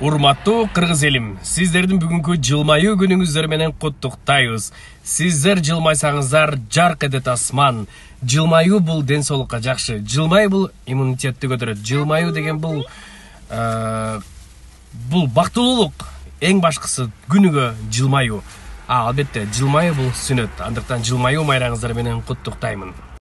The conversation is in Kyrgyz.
Урматтуу кыргыз элим, сиздердин бүгүнкү жылмаюу күнүңүздөр менен куттуктайбыз. Сиздер жылмайсаңыздар жарк этет асман. Жылмаюу бул ден соолукка жакшы. Жылмаюу бул иммунитетти көтөрөт. Жылмаюу деген бул бактылуулук. Эң башкысы күнүгө жылмаюу. Албетте, жылмаюу бул сүннөт. Андыктан жылмаюу майраңыздар менен куттуктаймын.